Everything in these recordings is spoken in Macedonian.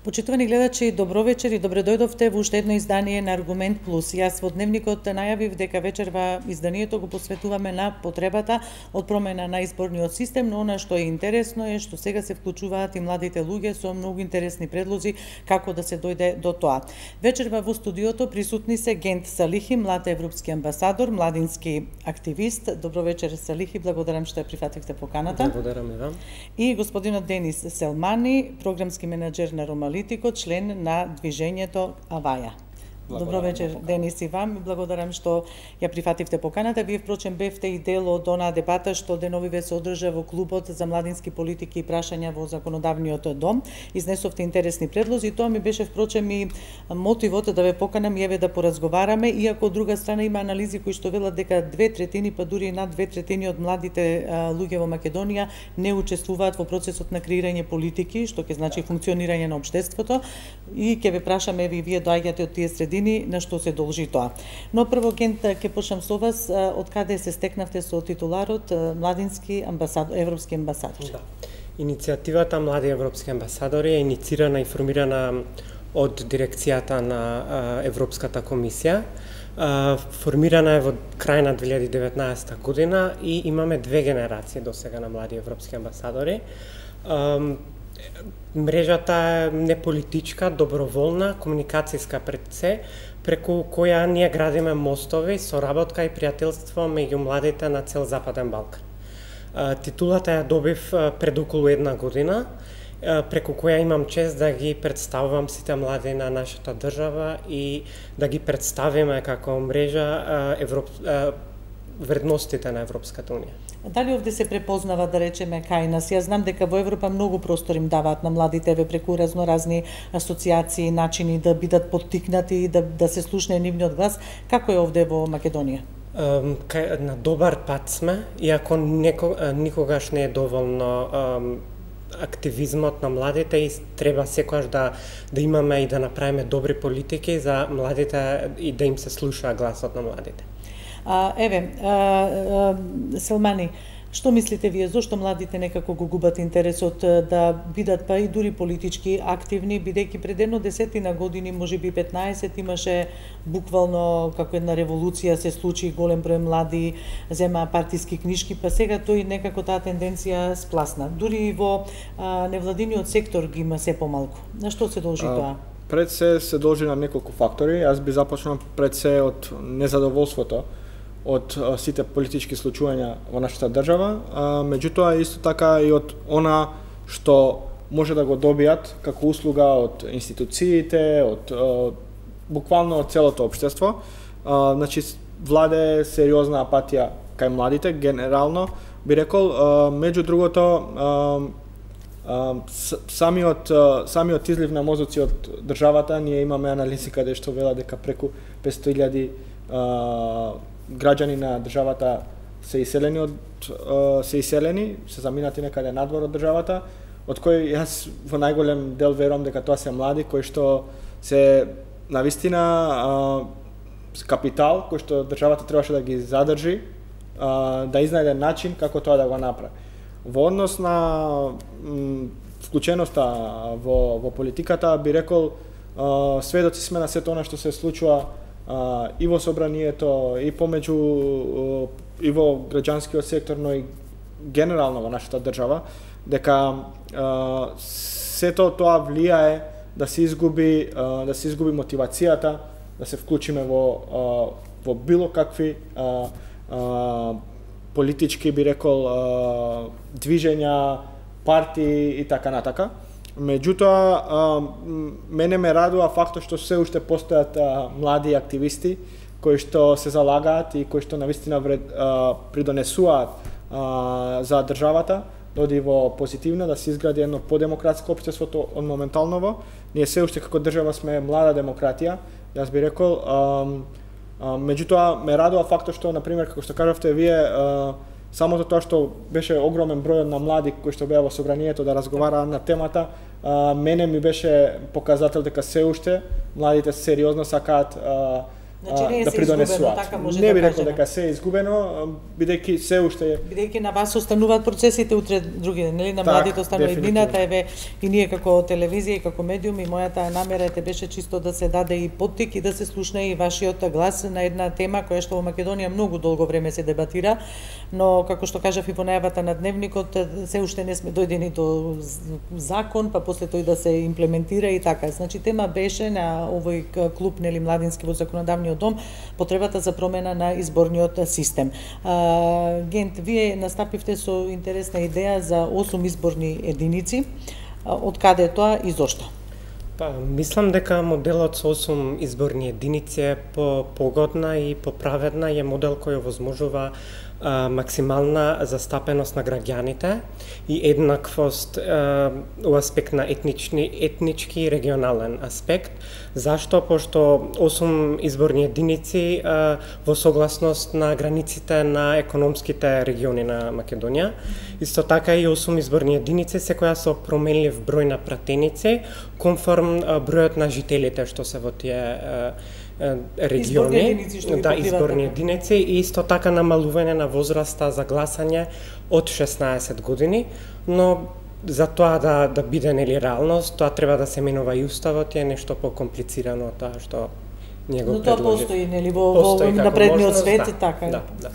Почитувани гледачи, добро вечер и добре дојдовте во уште едно издание на Аргумент Плюс. Јас во Дневникот најавив дека вечерва изданието го посветуваме на потребата од промена на изборниот систем, но она што е интересно е што сега се вклучуваат и младите луѓе со многу интересни предлози како да се дојде до тоа. Вечерва во студиото присутни се Гент Салихи, млад европски амбасадор, младински активист. Добро вечер, Салихи, благодарам што ја прифативте поканата. Благодарам и вам. И господинот Денис Селмани, програмски менаџер на Ромалитико, член на движењето Аваја. Добро вечер, Денис, и вам. Благодарам што ја прифативте поканата. Вие, впрочем, бевте и дел од онаа дебата што деновиве се одржа во Клубот за младински политики и прашања во Законодавниот дом. Изнесовте интересни предлози и тоа ми беше, впрочем, и мотивот да ве поканам и еве да поразговараме, иако од друга страна има анализи кои што велат дека 2/3, па дури над 2/3 од младите луѓе во Македонија не учествуваат во процесот на креирање политики, што ќе значи функционирање на општеството, и ќе ве прашаме вие доаѓате од тие средини, на што се должи тоа. Но прво, Гент, ќе почнам со вас. Од каде се стекнавте со титуларот младински амбасадор, европски амбасадор? Да. Иницијативата Млади европски амбасадори е иницирана и формирана од дирекцијата на Европската комисија. Формирана е во крај на 2019 година и имаме две генерации до сега на млади европски амбасадори. Мрежата е неполитичка, доброволна, комуникацијска пред се, преку која ние градиме мостови, соработка и пријателство меѓу младите на цел Западен Балкан. Титулата ја добив пред околу една година, преку која имам чест да ги представувам сите млади на нашата држава и да ги представиме како мрежа вредностите на Европската унија. Дали овде се препознава, да речеме, кај нас? Јас знам дека во Европа многу простор им даваат на младите преку разноразни асоциации, начини да бидат поттикнати и да се слушне нивниот глас. Како е овде во Македонија? На добар пат сме, иако никогаш не е доволно активизмот на младите и треба секогаш да имаме и да направиме добри политики за младите и да им се слуша гласот на младите. Селмани, што мислите вие, зошто младите некако го губат интересот да бидат па и дури политички активни, бидејќи пред едно 10 години, можеби 15, имаше буквално како една револуција се случи, голем број млади земаа партиски книшки, па сега тој некако таа тенденција спласна. Дури и во невладиниот сектор ги има се помалку. На што се должи тоа? Пред се должи на неколку фактори. Јас би започнал пред се од незадоволството од сите политички случувања во нашата држава, меѓутоа исто така и од она што може да го добијат како услуга од институциите, од буквално од целото општество. Значи, владе сериозна апатија кај младите, генерално би рекол, меѓу другото, самиот излив на мозоци од државата, ние имаме анализи каде што вела дека преку 500.000 граѓани на државата се иселени, се заминати некаде надвор од државата, од кои јас во најголем дел верувам дека тоа се млади кои што се навистина капитал кој што државата требаше да ги задржи, да изнајде начин како тоа да го направи. Во однос на вклученоста во политиката, би рекол, сведоци сме на сето она што се случува и во собранието, и помеѓу и во граѓанскиот сектор, но и генерално во нашата држава, дека сето тоа влијае да се изгуби мотивацијата да се вклучиме во било какви политички, би рекол, движења, партии и така натака. Меѓутоа, мене ме радува фактот што се уште постојат млади активисти кои што се залагаат и кои што навистина придонесуваат за државата да оди во позитивно, да се изгради едно подемократско општество од моменталново. Ние се уште како држава сме млада демократија, јас би рекол. Меѓутоа, ме радува фактот што, например, како што кажавте вие, самото тоа што беше огромен број на млади кои што беа во собранието да разговараа на темата, мене ми беше показател дека се уште младите сериозно сакаат Значи, да придонесуваат. Така може не би да рекол кажеме. дека се е изгубено, бидејќи се уште Бидејќи на вас остануваат процесите утре други ден, нели, на Так, младите останува дефинитивно. иднината, еве и ние како телевизија и како медиум и мојата намера беше чисто да се даде и поттик и да се слушне и вашиот глас на една тема која што во Македонија многу долго време се дебатира, но како што кажав и во најавата на дневникот, се уште не сме дојдени до закон, па после тој да се имплементира и така. Значи тема беше на овој клуб, нели, младински во законодавниот дом, потребата за промена на изборниот систем. Гент, вие настапивте со интересна идеја за 8 изборни единици. Од каде е тоа и зошто? Па, мислам дека моделот со 8 изборни единици е погодна и поправедна и е модел кој овозможува максимална застапеност на граѓаните и еднаквост у аспект на етнички и регионален аспект. Зашто? Пошто 8 изборни единици во согласност на границите на економските региони на Македонија. Исто така и 8 изборни единици секоја со променлив број на пратеници конформ бројот на жителите што се во тие региони, изборни единици и исто така намалување на возраста за гласање од 16 години, но за тоа да биде нели реалност, тоа треба да се менува и уставот, е нешто покомплицирано од тоа што ние го предложи. Но тоа постои нели во напредниот свет, да, така. Да.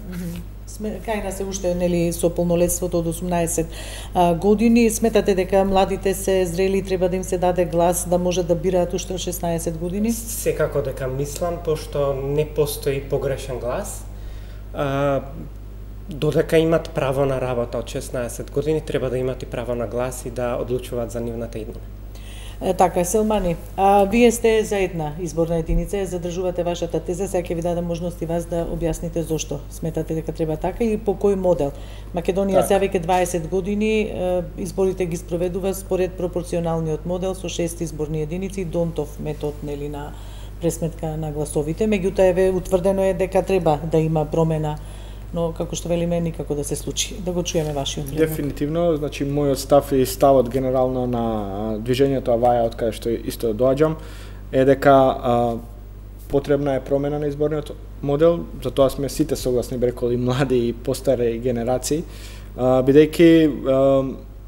Кај се уште нели со полнолетството од 18 години, сметате дека младите се зрели и треба да им се даде глас да може да бираат уште од 16 години? Секако дека мислам, пошто не постои погрешен глас. Додека имат право на работа од 16 години, треба да имат и право на глас и да одлучуваат за нивната иднина. Така, Селмани, вие сте за една изборна единица, задржувате вашата теза, сега ќе ви дадам можност и вас да објасните зошто сметате дека треба така и по кој модел. Македонија сега веќе 20 години изборите ги спроведува според пропорционалниот модел со 6 изборни единици, Донтов метод нели на пресметка на гласовите, меѓутоа еве утврдено е дека треба да има промена, но како што велиме никако да се случи. Да го чуеме вашиот предлог. Дефинитивно, значи мојот став и ставот генерално на движењето Аваја, од каде што исто доаѓам, е дека потребна е промена на изборниот модел, за тоа сме сите согласни, бреколи млади и постари генерации, бидејќи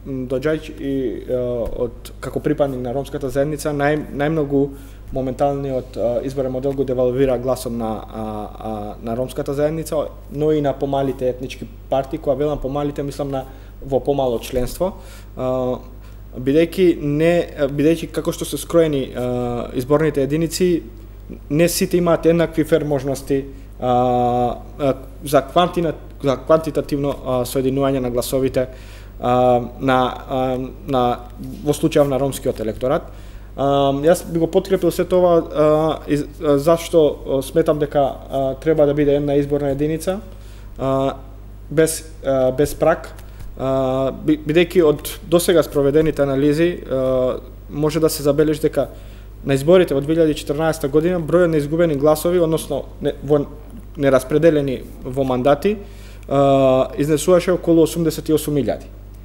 доаѓајќи од како припадник на ромската заедница, најмногу моменталниот изборен модел го девалвира гласот на ромската заедница, но и на помалите етнички партии, кога велам помалите, мислам на во помало членство, бидејќи како што се скроени изборните единици, не сите имаат еднакви фер можности за квантитативно соединување на гласовите во случајов на ромскиот електорат. Јас би го подкрепил се тоа зашто сметам дека треба да биде една изборна единица без праг, бидејќи од досега спроведените анализи може да се забележи дека на изборите во 2014 година бројот на изгубени гласови, односно нераспределени во мандати, изнесуваше околу 88.000.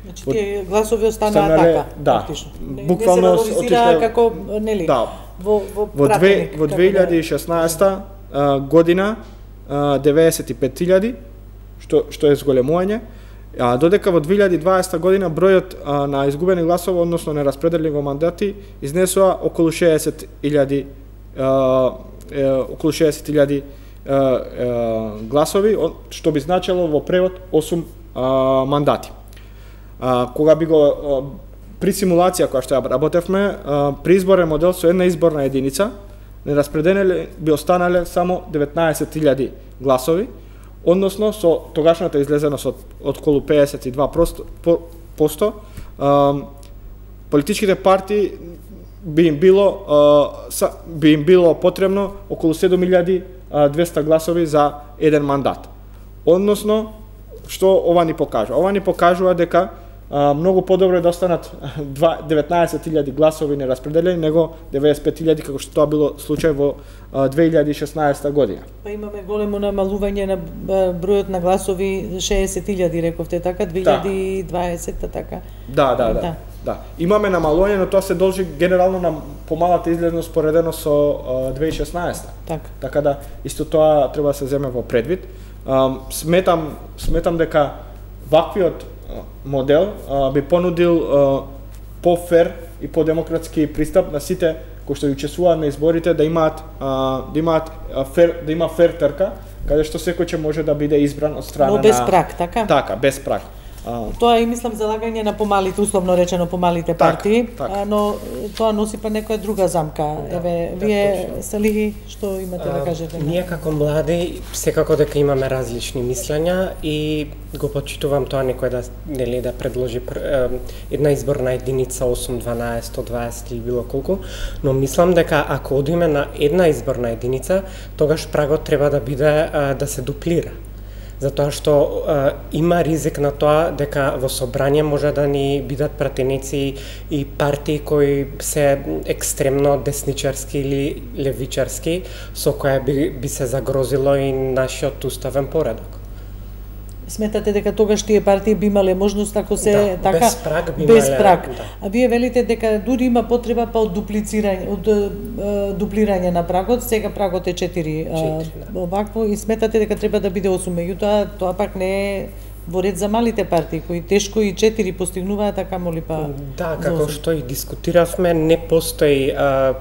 Значи тие гласови останаа така, практично. Буквално отишла како нели во пратеник. Во 2016 година 95.000, што е зголемување, додека во 2020 година бројот на изгубени гласови, односно нераспределени во мандати, изнесува околу 60.000 гласови, што би значило во превод 8 мандати. Кога би го при симулација која што ја работевме, при изборен модел со една изборна единица, нераспределени би останале само 19.000 гласови, односно со тогашната излезеност од околу 52%, политичките партии би им било потребно околу 7.200 гласови за еден мандат. Односно, што ова ни покажува? Ова ни покажува дека многу подобро е да останат 19.000 гласови нераспределени него 95.000 како што тоа било случај во 2016 година. Па имаме големо намалување на бројот на гласови, 60.000 рековте така, 2020 така. Да. Да, имаме намалување, но тоа се должи генерално на помалата излезност поредено со 2016. Така да исто тоа треба да се земе во предвид. Сметам дека ваквиот модел би понудил по-фер и по-демократски пристап на сите кои што учествуваат на изборите да има фер трка, каде што секој ќе може да биде избран од страна но без праг, така? Така, без праг. Тоа и мислам залагање на помалите, условно речено помалите партии, но тоа носи па некоја друга замка. Еве, вие Салихи, што имате да кажете? Ние како млади секако дека имаме различни мислења и го почитувам тоа некој да предложи една изборна единица 8, 12, 120 или било колку, но мислам дека ако одиме на една изборна единица, тогаш прагот треба да биде да се дуплира. Затоа што има ризик на тоа дека во собрание може да ни бидат пратеници и партии кои се екстремно десничарски или левичарски, со која би се загрозило и нашиот уставен поредок. Сметате дека тогаш тие партии би имале можност ако се така без праг би без праг. Да. А вие велите дека дури има потреба па од дуплирање на прагот, сега прагот е 4 овакво и сметате дека треба да биде 8, меѓутоа тоа пак не е во ред за малите партии кои тешко и 4 постигнуваат, така моли па. Да, како што и дискутиравме, не постои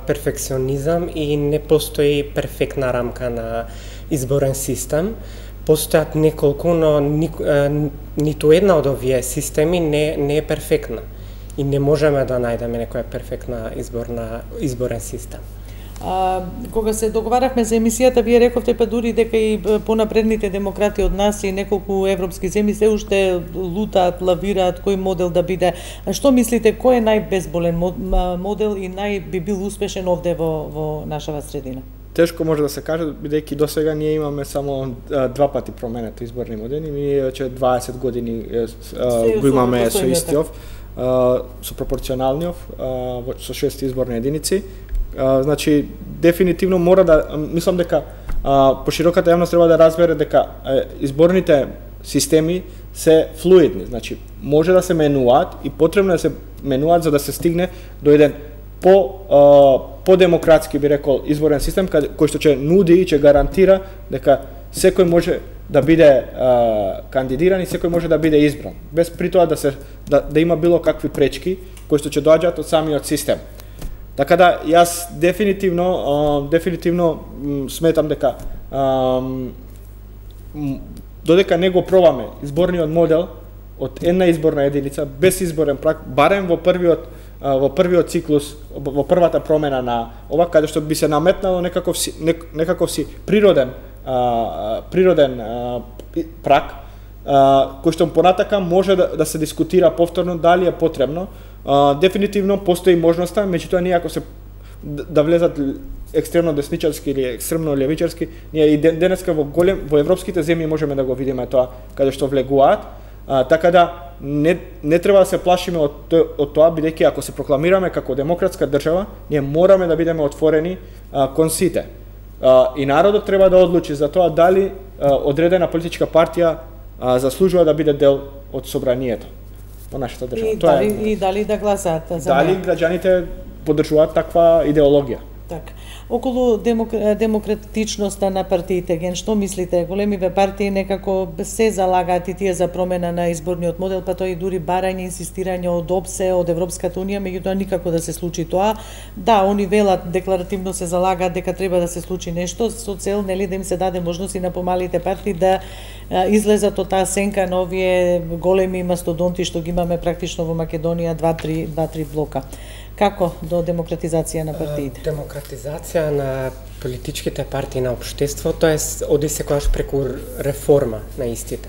перфекционизам и не постои перфектна рамка на изборен систем. Постојат неколку, но ниту една од овие системи не е перфектна. И не можеме да најдеме некоја перфектна изборен систем. Кога се договарахме за емисијата, вие рековте па дури дека и понапредните демократи од нас и неколку европски земји се уште лутаат, лавираат кој модел да биде. А што мислите, кој е најбезболен модел и би бил успешен овде во нашава средина? Тешко може да се каже, бидејќи досега ние имаме само 2 пати променети изборни модели, ние че 20 години го имаме со истиот, со пропорционалниот, со 6 изборни единици. Значи, дефинитивно мора да, мислам дека пошироката јавност треба да разбере дека изборните системи се флуидни, значи може да се менуваат и потребно да се менуваат за да се стигне до еден по-демократски, би рекол, изборен систем кој што ќе нуди и ќе гарантира дека секој може да биде кандидиран и секој може да биде избран, без при тоа да има било какви пречки кои што ќе доаѓаат од самиот систем. Така да јас дефинитивно сметам дека додека не го пробаме изборниот модел од една изборна единица без изборен праг, барем во првиот циклус, во првата промена на ова, каде што би се наметнало некаков си природен праг, кој што понатака може да се дискутира повторно дали е потребно. Дефинитивно постои можноста, меѓутоа ние ако се да влезат екстремно десничарски или екстремно левичарски, ние и денеска во европските земји можеме да го видиме тоа каде што влегуваат. Така да не треба да се плашиме од тоа, бидејќи ако се прокламираме како демократска држава, ние мораме да бидеме отворени кон сите. И народот треба да одлучи за тоа дали одредена политичка партија заслужува да биде дел од собранието во нашата држава. И дали да гласаат за дали граѓаните поддржуваат таква идеологија. Така. Околу демократичноста на партиите, ген, што мислите? Големиве партии некако се залагаат и тие за промена на изборниот модел, па тоа и дури барање, инсистирање од ОПСЕ, од Европската унија, меѓутоа никако да се случи тоа. Да, они велат, декларативно се залагаат дека треба да се случи нешто со цел нели да им се даде можност и на помалите партии да излезат од таа сенка на овие големи мастодонти што ги имаме практично во Македонија, 2-3 блока. Како до демократизација на партиите? Демократизација на политичките партии на општеството оди секогаш преку реформа на истите.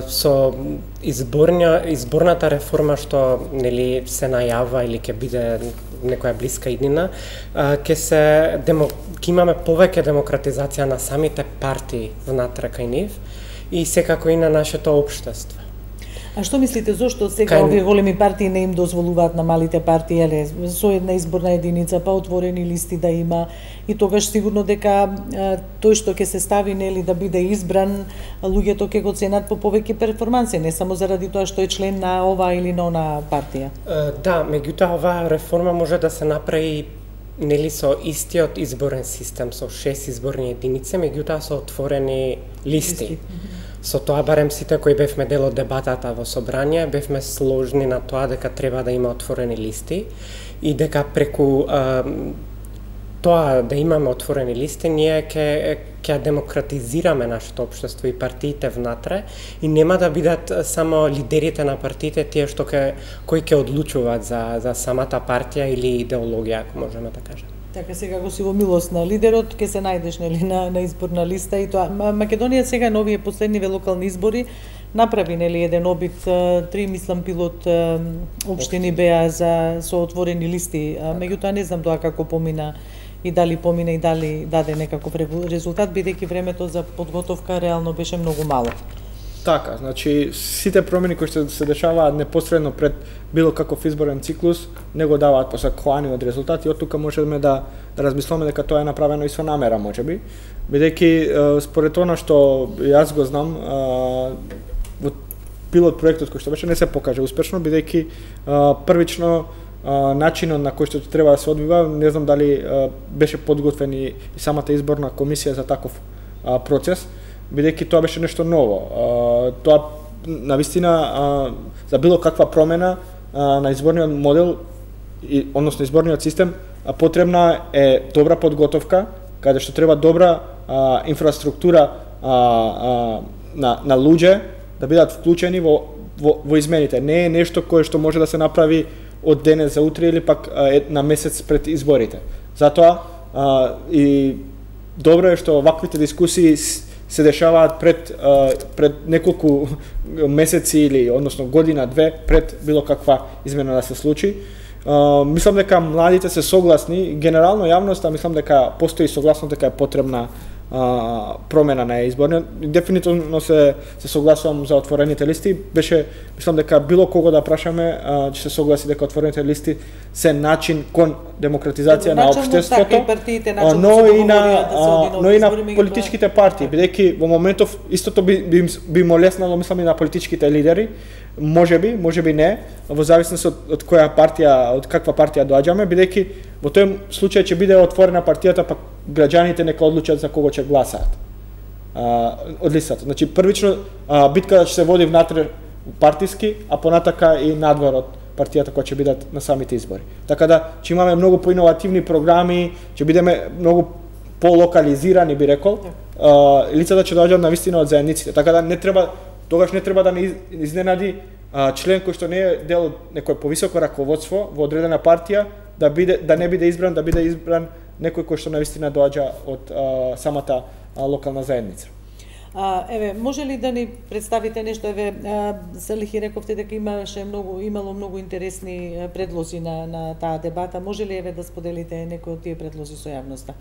Со изборната реформа што нели се најавува или ќе биде некоја блиска иднина, ќе имаме повеќе демократизација на самите партии внатре кај нив и секако и на нашето општество. А што мислите, зошто сега овие големи партии не им дозволуваат на малите партии, со една изборна единица, па отворени листи да има, и тогаш сигурно дека тој што ќе се стави нели да биде избран, луѓето ќе го ценат по повеќе перформанси, не само заради тоа што е член на ова или на она партија. Да, меѓутоа оваа реформа може да се направи нели со истиот изборен систем, со 6 изборни единици, меѓутоа со отворени листи. Со тоа барем сите кои бевме дел од дебатата во собрание, бевме сложни на тоа дека треба да има отворени листи и дека преку тоа да имаме отворени листи, ние ќе демократизираме нашето општество и партиите внатре и нема да бидат само лидерите на партиите тие што кои ќе одлучуваат за самата партија или идеологија, ако можеме да кажеме. Така сега го си во милост на лидерот, ќе се најдеш нели на изборна листа и тоа. Македонија сега на овие последниве локални избори направи нели еден обид, 3 мислам пилот општини беа со отворени листи, меѓутоа не знам тоа како помина и дали помина и дали даде некаков резултат, бидејќи времето за подготовка реално беше многу мало. Така, значи сите промени кои што се дешаваат непосредно пред било каков изборен циклус не го даваат посакуваниот резултат и од тука можеме да размислиме дека тоа е направено и со намера можеби, бидејќи според она што јас го знам во пилот проектот кој што беше не се покажа успешно, бидејќи првично начинот на кој што треба да се одвива, не знам дали беше подготвен и самата изборна комисија за таков процес, бидејќи тоа беше нешто ново. Тоа навистина за било каква промена на изборниот модел односно изборниот систем потребна е добра подготовка, каде што треба добра инфраструктура на луѓе да бидат вклучени во измените. Не е нешто кое што може да се направи од денес за утре или пак на месец пред изборите. Затоа и добро е што ваквите дискусии се дешаваат пред неколку месеци или односно година-две пред било каква измена да се случи. Мислам дека младите се согласни, генерално јавноста мислам дека постои согласност дека е потребна промена на изборниот. Дефинитивно се согласувам за отворените листи. Беше мислам дека било кого да прашаме ќе се согласи дека отворените листи се начин кон демократизација на општеството, но и на политичките партии, бидејќи во моментов истото би му леснало мислам и на политичките лидери, можеби не, во зависност од која партија, од каква партија доаѓаме, бидејќи во тој случај ќе биде отворена партијата, па граѓаните нека одлучат за кого ќе гласаат од листата. Значи првично битката ќе се води внатре партиски, а понатака и надвор од партијата која ќе бидат на самите избори. Така да ќе имаме многу поиновативни програми, ќе бидеме многу полокализирани, би рекол. Лицата ќе доаѓаат навистина од заедниците. Така да тогаш не треба да не изненади член кој што не е дел од некој повисоко раководство во одредена партија да не биде избран, да биде избран некој кој што навистина доаѓа од самата локална заедница. Еве, може ли да ни представите нешто, еве, Салихи рековте дека имало многу интересни предлози на таа дебата, може ли еве да споделите некои од тие предлози со јавноста?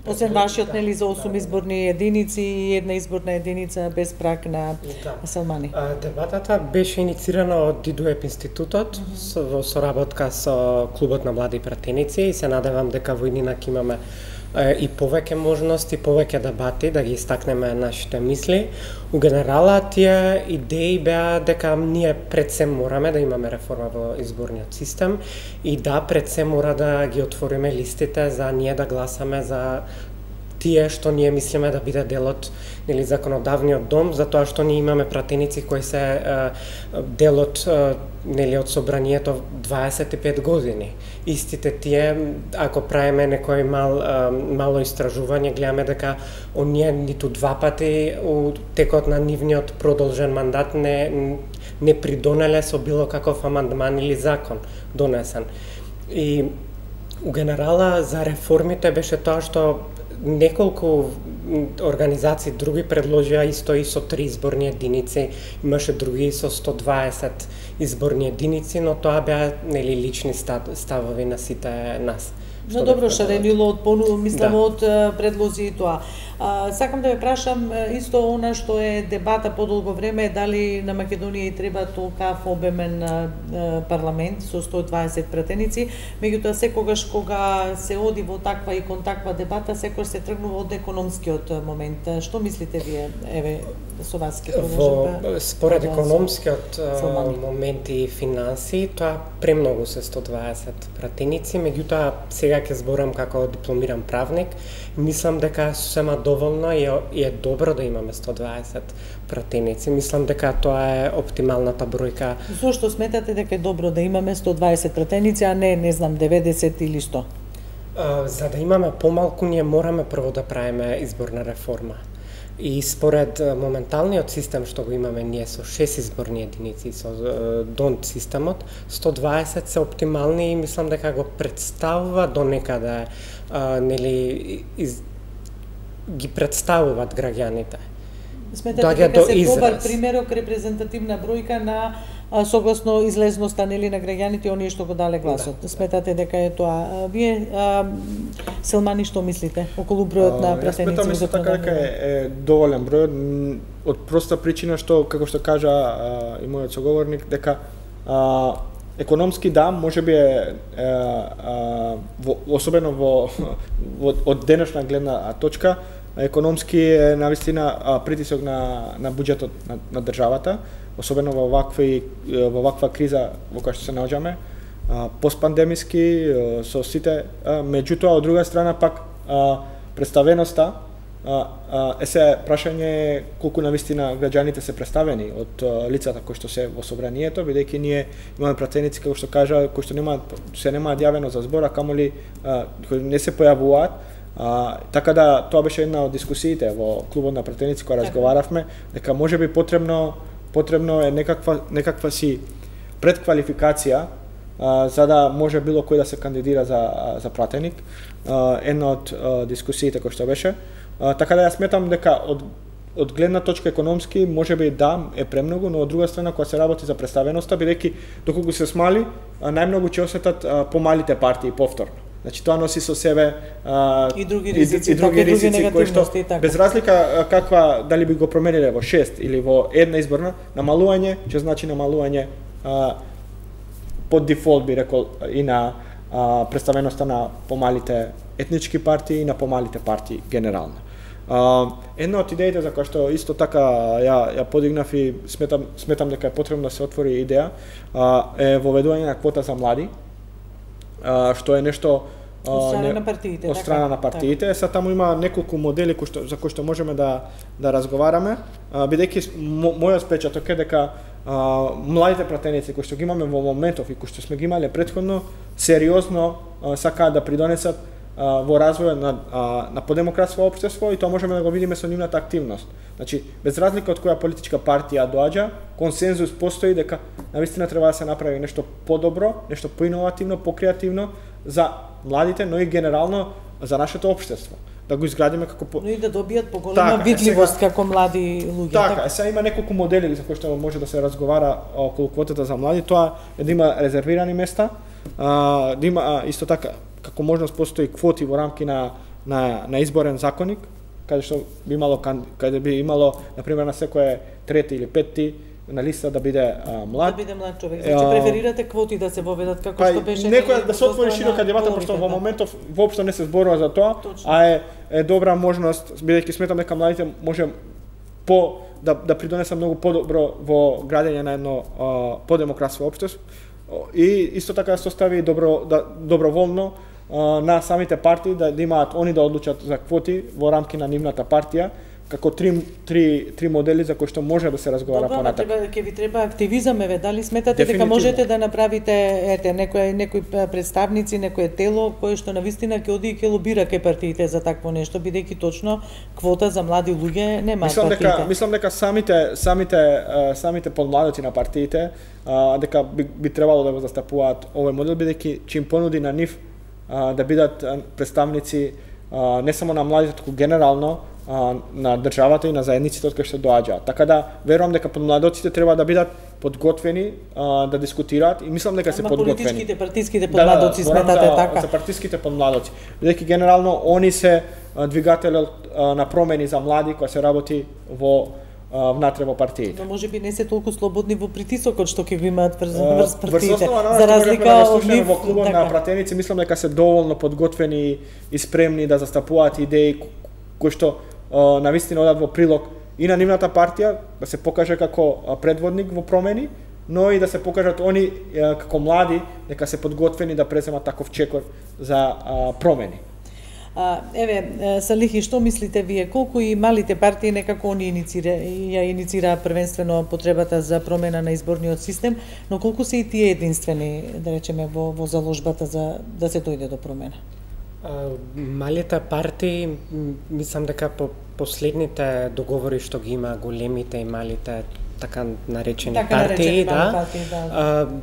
Освен вашиот, нели, за 8 изборни единици и една изборна единица без праг на Селмани. Дебатата беше инициирана од Дидуеп институтот во соработка со Клубот на млади пратеници и се надевам дека во иднина имаме и повеќе можности, повеќе дебати да ги истакнеме нашите мисли. У генерала тие идеи беа дека ние пред се мораме да имаме реформа во изборниот систем и да пред се мора да ги отвориме листите за ние да гласаме за тие што ние мислиме да биде дел од законодавниот дом, затоа што ние имаме пратеници кои се дел од од собранието 25 години. Истите тие, ако правиме некој мало истражување, гледаме дека оние ниту два пати у текот на нивниот продолжен мандат не придонеле со било каков амандман или закон донесен. И у генерала за реформите беше тоа што неколку организации други предложија исто и со 3 изборни единици, имаше други со 120 изборни единици, но тоа беа лични ставови на сите нас. Но добро, шаренило од од предлози и тоа. Сакам да ве прашам исто она што е дебата подолго време, дали на Македонија и треба толкав обемен парламент со 120 пратеници, меѓутоа секогаш кога се оди во таква и кон таква дебата, секогаш се тргнува од економскиот момент. Што мислите вие, еве, со вас ке продолжиме? Според економскиот момент и финанси, тоа премногу се 120 пратеници, меѓутоа сега ќе зборам како дипломиран правник, мислам дека сосема доволно и е добро да имаме 120 пратеници. Мислам дека тоа е оптималната бројка. Зошто сметате дека е добро да имаме 120 пратеници, а не знам 90 или 100? За да имаме помалку, ние мораме прво да правиме изборна реформа. И според моменталниот систем што го имаме ние со 6 изборни единици, со донт системот, 120 се оптимални и мислам дека го представува до некаде, нели, ги представуваат граѓаните. Сметате дека се добар примерок, репрезентативна бројка на согласно излезноста, нели, на граѓаните, оние што го дале гласот. Сметате дека е тоа. Вие, Селмани, што мислите околу бројот на пратеници? Сметам исто така дека е доволен број, од проста причина што, како што кажа и мојот соговорник, дека економски да, можеби е особено од денешна гледна точка, економски е навистина притисок на буџетот на државата, особено во ваква криза во која што се наоѓаме, постпандемиски со сите, меѓутоа од друга страна пак представеноста се прашање колку навистина граѓаните се представени од лицата кои што се во собранието, бидејќи ние имаме пратеници како што кажа кои што немаат јавено за збор, а камоли кои не се појавуваат. Така да тоа беше една од дискусиите во клубот на пратеници кога разговаравме, дека можеби потребно е некаква си предквалификација за да може било кој да се кандидира за пратеник. Една од дискусиите кој што беше. Така да ја сметам дека од гледна точка економски можеби да е премногу, но од друга страна кога се работи за представеноста, бидејќи доколку се смали, најмногу ќе осетат помалите партии повторно. Значи тоа носи со себе и други ризици кои што без разлика каква дали би го промениле во 6 или во една изборна, намалување ќе значи намалување под дефолт би рекол и на представеноста на помалите етнички партии и на помалите партии генерално. Една од идеите за која што исто така ја подигнав и сметам дека е потребно да се отвори идеја е воведување на квота за млади, што е нешто од страна на партиите. Од страна на партиите. Сега таму има неколку модели за кои што можеме да разговараме, бидејќи мојот впечаток е дека младите пратеници кои што ги имаме во моментов и кои што сме ги имале претходно, сериозно сакаат да придонесат во развојот на подемократско општество и тоа можеме да го видиме со нивната активност. Значи, без разлика од која политичка партија доаѓа, консензус постои дека навистина треба да се направи нешто подобро, нешто поиновативно, покреативно за младите, но и генерално за нашето општество. Да го изградиме како но и да добијат поголема видливост како млади луѓе. Така, сега има неколку модели за кои што може да се разговара околу квотата за млади, тоа е да има резервирани места, да има исто така како можност постои квоти во рамки на изборен законник, каде што би имало на пример на секој трети или петти на листа да биде млад. Да биде млад човек. Значи преферирате квоти да се воведат како што беше некоја да се отвори широка дебата, пошто во моментов воопшто не се зборува за тоа, а е добра можност, бидејќи сметам дека младите може да придонесат многу подобро во градење на едно подемократско општество и исто така да се остави доброволно на самите партии да имаат они да одлучат за квоти во рамки на нивната партија, како три модели за кои што може да се разговара понатаму. Добро, ќе ви треба активизам, еве, дали сметате дека можете да направите некои представници, некое тело кое што навистина ќе оди и ќе лобира кај партиите за такво нешто, бидејќи точно квота за млади луѓе нема партиите. Мислам дека самите подмладоци на партиите дека би требало да го застапуваат овој модел, бидејќи чим понуди на нив да бидат представници не само на младите, туку генерално на државата и на заедниците од кои што доаѓаат. Така да верувам дека подмладоците треба да бидат подготвени да дискутираат и мислам дека се подготвени. Партиските подмладоци сметате така. За партиските подмладоци. Бидејќи генерално они се двигателот на промени за млади кои се работи внатре во партиите. Но можеби не се толку слободни во притисокот што ќе го имаат врз партиите. За разлика од нив во клубот на пратеници, мислам дека се доволно подготвени и спремни да застапуваат идеи кои што навистина одат во прилог и на нивната партија, да се покаже како предводник во промени, но и да се покажат они како млади дека се подготвени да преземат таков чекор за промени. Салихи, што мислите вие? Колку и малите партии некако они иницираа првенствено потребата за промена на изборниот систем, но колку се и тие единствени, да речеме, во заложбата за да се дојде до промена? Малите партии, мислам дека по последните договори што ги има големите и малите така наречени партии,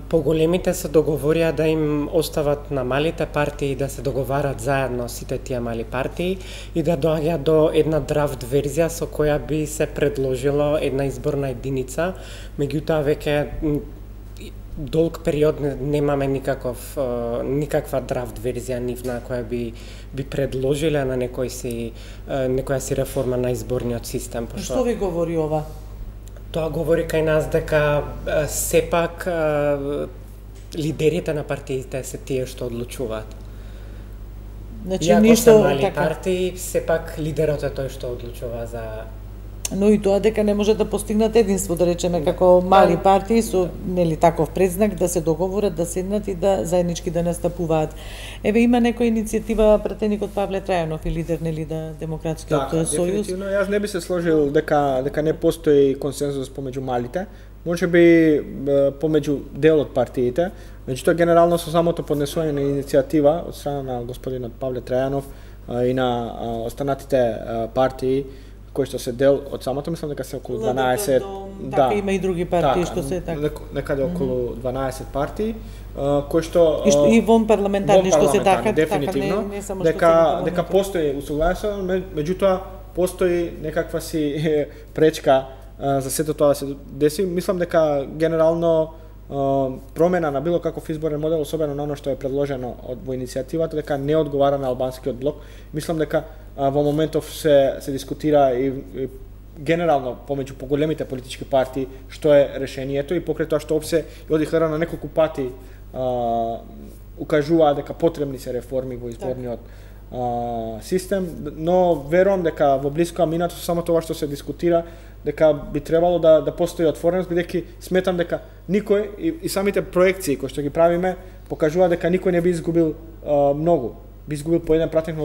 поголемите се договорија да им остават на малите партии да се договарат заедно сите тие мали партии и да доаѓа до една драфт верзија со која би се предложило една изборна единица, меѓутоа веќе долг период немаме никаква драфт верзија нивна која би предложиле на некоја си реформа на изборниот систем. Што ви говори ова? Тоа говори кај нас дека сепак лидерите на партиите се тие што одлучуваат. Значи иако ништо се мали така партии, сепак лидерот е тој што одлучува за. Но и тоа дека не може да постигнат единство, да речеме, како мали партии со нели таков предзнак да се договорат, да седнат и да заеднички да настапуваат. Еве има некоја иницијатива пратеникот Павле Трајанов и лидер нели да Демократскиот сојуз. Дефинитивно, јас не би се сложил дека не постои консензус помеѓу малите. Можеби помеѓу дел од партиите, меѓутоа генерално со самото поднесување на иницијатива од страна на господинот Павле Трајанов и на останатите партии кои што се дел од самото, мислам дека се околу 12, така има и други партии што се така. Некаде околу 12 партии кои што и вон парламентарни што се така, дефинитивно, не само дека постои усогласување, меѓутоа постои некаква си пречка за сето тоа да се деси. Мислам дека генерално промена на било каков изборен модел, особено на оно што е предложено во иницијативата, дека не одговара на албанскиот блок. Мислам дека во моментов се дискутира и генерално помеѓу поголемите политички партии што е решението и покрај тоа што опсе ОДИХР на неколку пати укажуваа дека потребни се реформи во изборниот систем, но верувам дека во блиско минато со само тоа што се дискутира дека би требало да постои отвореност, бидејќи сметам дека никој и самите проекции кои што ги правиме покажува дека никој не би изгубил многу. Би изгубил по еден пратеник,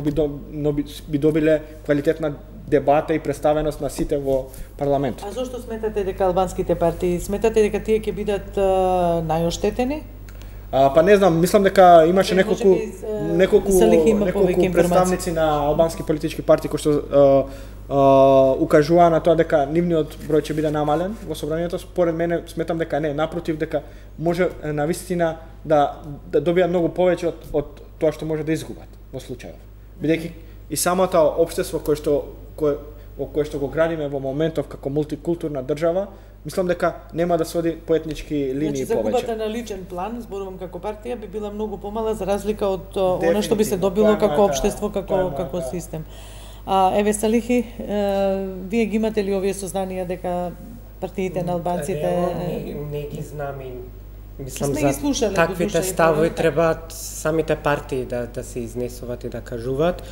но би добиле квалитетна дебата и представеност на сите во парламентот. А зошто сметате дека албанските партии, сметате дека тие ќе бидат најоштетени? Па не знам, мислам дека имаше неколку представници на албански политички партии кои што укажуваа на тоа дека нивниот број ќе биде намален во собранието. Според мене сметам дека не, напротив, дека може навистина да добијат многу повеќе од тоа што може да изгубат во случајов. Бидејќи и самото општество во кое што го градиме во моментов како мултикултурна држава, мислам дека нема да се оди по етнички линии повеќе. Значи загубата на личен план, зборувам како партија, би била многу помала за разлика од она што би се добило како општество, како систем. Еве Салихи, вие ги имате ли овие сознанија дека партиите на албанците не ги знам и мислам за таквите ставови требаат самите партии да се изнесуваат и да кажуваат,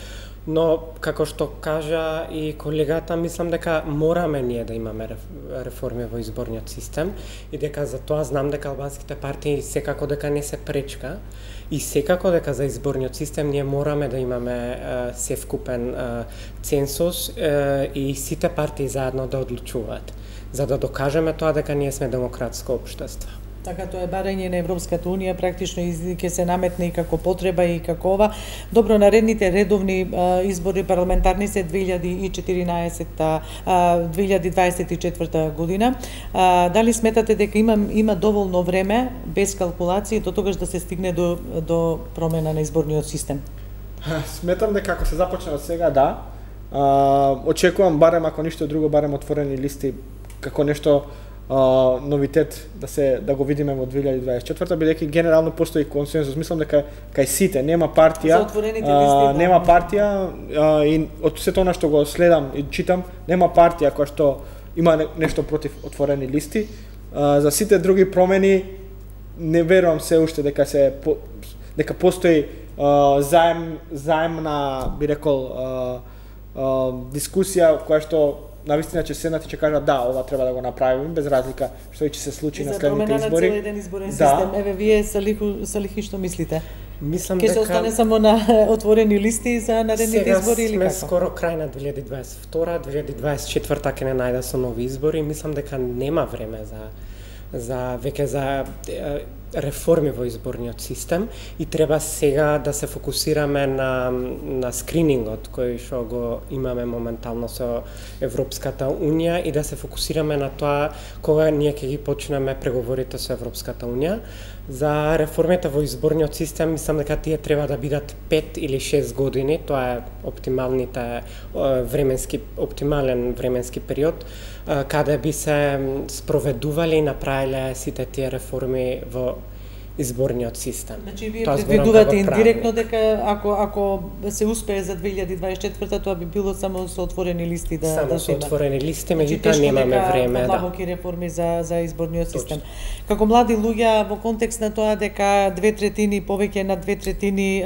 но како што кажа и колегата, мислам дека мораме ние да имаме реформи во изборниот систем и дека за тоа знам дека албанските партии секако дека не се пречка и секако дека за изборниот систем ние мораме да имаме севкупен цензус и сите партии заедно да одлучуваат, за да докажеме тоа дека ние сме демократско општество. Така тоа е барање на Европската унија, практично ќе се наметне и како потреба и како ова. Добро, наредните редовни избори парламентарни се 2024 година. Дали сметате дека има доволно време без калкулации до тогаш да се стигне до промена на изборниот систем? Сметам дека ако се започне од сега, да. Очекувам барем ако ништо друго, барем отворени листи како нешто новитет да го видиме во 2024, бидејќи генерално постои консензус. Мислам дека кај сите нема партија, нема партија и од сето она што го следам и читам, нема партија која што има нешто против отворени листи. За сите други промени не верувам се уште дека постои заемна, би рекол, дискусија која што навистина ќе седнат и ќе кажат да, ова треба да го направиме без разлика што ќе се случи на следните избори. За промена на целен изборен систем. Еве вие Салихи што мислите? Мислам дека ќе се остане само на отворени листи за наредните избори или како? Сега сме скоро крај на 2022, 2024 ќе не најде со нови избори. Мислам дека нема време за реформи во изборниот систем и треба сега да се фокусираме на скринингот кој што го имаме моментално со Европската Унија и да се фокусираме на тоа кога ние ќе ги почнеме преговорите со Европската Унија. За реформите во изборниот систем мислам дека тие треба да бидат 5 или 6 години, тоа е оптимален временски период каде би се спроведувале и направиле сите тие реформи во изборниот систем. Значи вие предвидувате индиректно дека ако се успее за 2024 тоа би било само со отворени листи само со отворени листи, меѓутоа немаме време длабоки реформи за изборниот систем. Како млади луѓе во контекст на тоа дека 2/3 повеќе на 2/3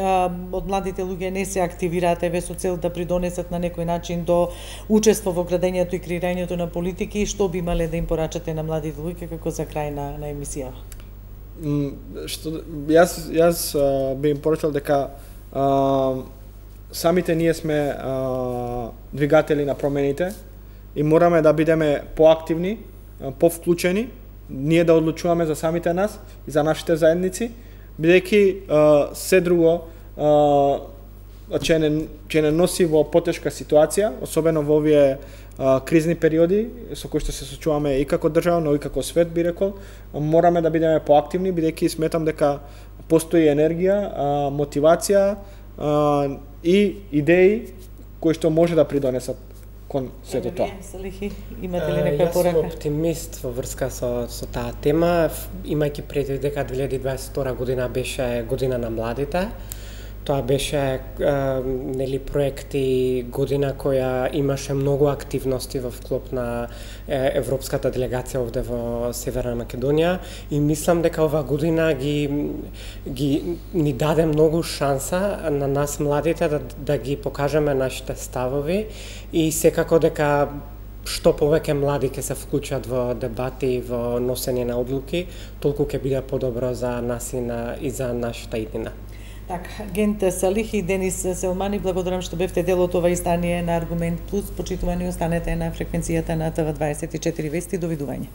од младите луѓе не се активираат еве со цел да придонесат на некој начин до учество во градењето и креирањето на политики, што би имале да им порачате на младите луѓе како за крај на емисијава? Јас би им порачал дека самите ние сме двигатели на промените и мораме да бидеме поактивни, повклучени, ние да одлучуваме за самите нас и за нашите заедници, бидејќи се друго ќе не носи во потешка ситуација, особено во овие кризни периоди со кои што се сочуваме и како држава, но и како свет, би рекол. Мораме да бидеме поактивни, бидејќи сметам дека постои енергија, мотивација и идеи кои што може да придонесат кон сето тоа. Салихи, имате ли некоја порака? Јас сум оптимист во врска со таа тема, имајќи предвид дека 2022 година беше година на младите. Тоа беше проекти година која имаше многу активности во вклоп на европската делегација овде во Северна Македонија и мислам дека ова година ни даде многу шанса на нас младите да ги покажеме нашите ставови и секако дека што повеќе млади ќе се вклучат во дебати и во носење на одлуки, толку ќе биде подобро за нас и за нашата иднина. Така, Гент Салихи и Денис Селмани, благодарам што бевте дел од ова издание на Аргумент Плюс. Почитувани останете на фреквенцијата на ТВ24 Вести. Довидување.